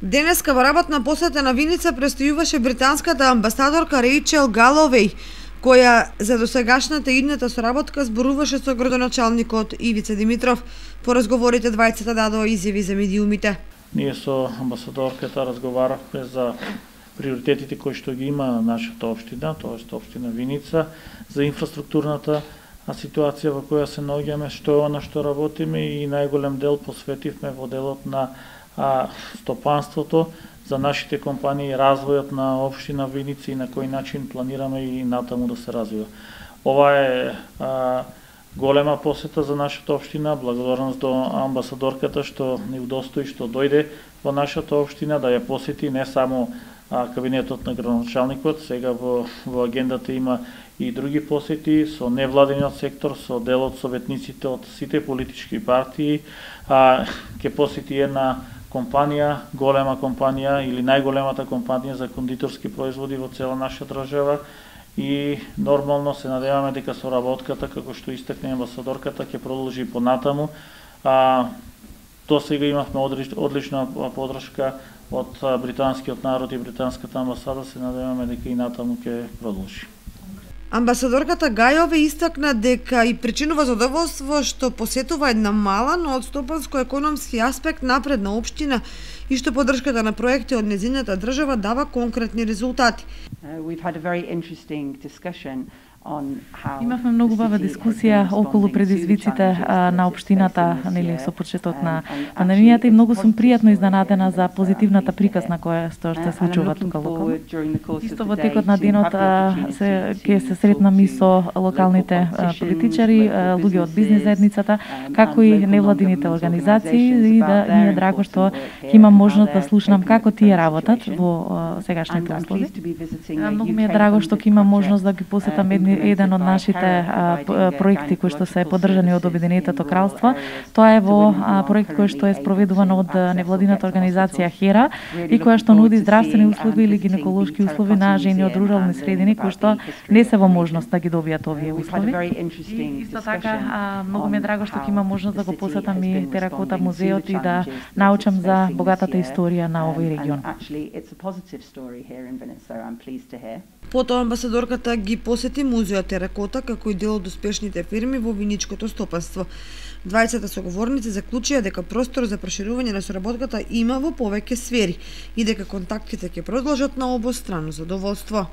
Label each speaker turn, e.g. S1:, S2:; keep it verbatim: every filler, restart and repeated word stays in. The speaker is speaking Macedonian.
S1: Денеска во работна посета на Виница престојуваше британската амбасадорка Рејчел Галовеј, која за досегашната идната соработка зборуваше со градоначалникот Ивица Димитров. По разговорите двајцата дадоа изјави за медиумите.
S2: Ние со амбасадорката разговаравме за приоритетите кои што ги има нашата општина, тоест општина Виница, за инфраструктурната ситуација во која се наоѓаме, што е она што работиме и најголем дел посветивме во делот на а, стопанството, за нашите компании, развојот на општина Виница и на кој начин планираме и натаму да се развива. Ова е а, голема посета за нашата општина, благодарност до амбасадорката што ни удостои што дојде во нашата општина да ја посети не само а, кабинетот на градоначалникот, сега во, во агендата има и други посети со невладиниот сектор, со дел од советниците од сите политички партии, а, ке посети една компанија, голема компанија или најголемата компанија за кондиторски производи во цела наша држава и нормално се надеваме дека соработката, како што истакне амбасадорката, ќе продолжи понатаму. А, до сега имавме одлична подршка од британскиот народ и британската амбасада, се надеваме дека и натаму ќе продолжи.
S1: Амбасадорката Гајове истакна дека и причинува задоволство што посетува една мала, но од стопанско-економски аспект напредна општина и што поддршката на проекти од нејзината држава дава конкретни резултати.
S3: Имавме многу бава дискусија околу предизвиците на општината, нели, со почетот на пандемијата и многу сум пријатно изненадена за позитивната приказна која што се случува тука локално. Исто во текот на денот се ќе се сретнам и со локалните политичари, луѓе од бизнис заедницата, како и невладините организации и да ми е драго што ќе имам можност да слушнам како тие работат во сегашните услови. Многу ми е драго што ќе имам можност да ги посетам едни еден од нашите а, проекти кои што се поддржани од Обединетото кралство. Тоа е во а, проект кој што е спроведуван од невладината организација Хера и која што нуди здравствени услови или гинеколошки услови на жени од рурални средини кои што не се во можност да ги добијат овие услови. И исто така а, многу ми е драго што ќе имам можност да го посетам и Теракота музеот и да научам за богатата историја на овој регион.
S1: Потоа амбасадорката ги посети музеот Теракота како и дел од успешните фирми во виничкото стопанство. Двајцата соговорници заклучија дека простор за проширување на соработката има во повеќе сфери и дека контактите ќе продолжат на обострано задоволство.